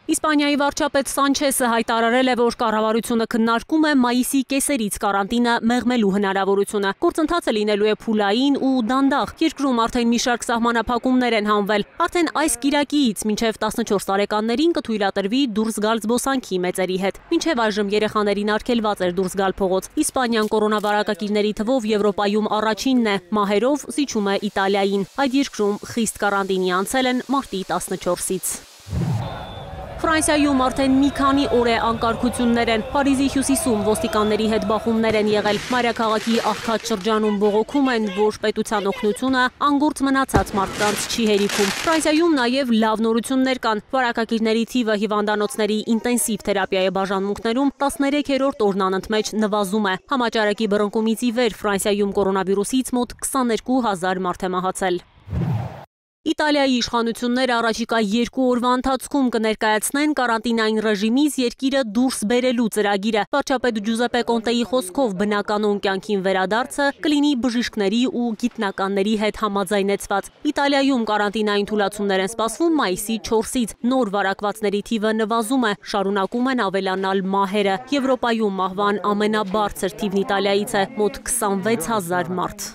Իսպանիայի վարչապետ Սանչեսը հայտարարել է, որ կառավարությունը քննարկում է մայիսի կեսերից կարանտինը մեղմելու հնարավորությունը։ Գործընթացը լինելու է փուլային ու դանդաղ։ Երկրում արդեն մի շարք սահմանափակումներ են հանվել։ Արդեն այս կիրակից մինչև 14 տարեկաններին կթույլատրվի դուրս գալ զբոսանքի մեծերի հետ։ Մինչև այժմ երեխաներին արգելված էր դուրս գալ փողոց։ Իսպանիան կորոնավարակակիրների թվով Եվրոպայում առաջինն է, մահերով զիջում է Իտալիային։ Այդ երկրում խիստ կարանտինի անցել են մարտի 14-ից։ Ֆրանսիայում արդեն մի քանի օր է անկարգություններ են։ Փարիզի հյուսիսում ոստիկանների հետ բախումներ են եղել։ Մայրաքաղաքի աղքատ շրջանում բողոքում են, որ պետության օգնությունը անգործ մնացած մարդկանց չի հերիքում։ Ֆրանսիայում նաև լավ նորություններ կան։ Վարակագիրների թիվը հիվանդանոցների ինտենսիվ թերապիայի բաժանմունքներում 13-րդ օրն անընդմեջ նվազում է։ Համաճարակի բռնկումից ի վեր Ֆրանսիայում կորոնավիրուսից մոտ 22,000 մարդ է մահացել։ Իտալիայի իշխանությունները առաջիկա 2 օրվա ընթացքում կներկայացնեն կարանտինային ռեժիմից երկիրը դուրս բերելու ծրագիրը։ Վարչապետ Ջուզեպե Կոնտեի խոսքով բնականոն կյանքին վերադարձը կլինի բժիշկների ու գիտնականների հետ համաձայնեցված։ Իտալիայում կարանտինային թուլացումներ են սպասվում մայիսի 4-ից։ Նոր վարակվածների թիվը նվազում է, շարունակում են ավելանալ մահերը։ Եվրոպայում մահվան ամենաբարձր թիվն Իտալիայից է՝ մոտ 26,000 մարդ։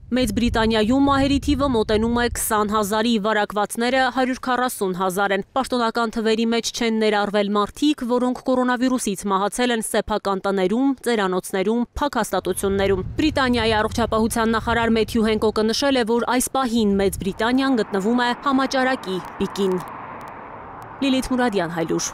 Մեծ Բրիտանիայում մահերի թիվը մոտենում է 20,000-ի, վարակվածները 140,000 են։ Պաշտոնական թվերի մեջ չեն ներառվել մարդիկ, որոնք կորոնավիրուսից մահացել են սեփական տներում, ծերանոցներում, փակ հաստատություններում։ Բրիտանիայի առողջապահության նախարար Մեթյու Հենկոկը նշել է, որ այս պահին Մեծ Բրիտանիան գտնվում է համաճարակի պիկին։ Լիլիթ Մուրադյան, Հայլուր։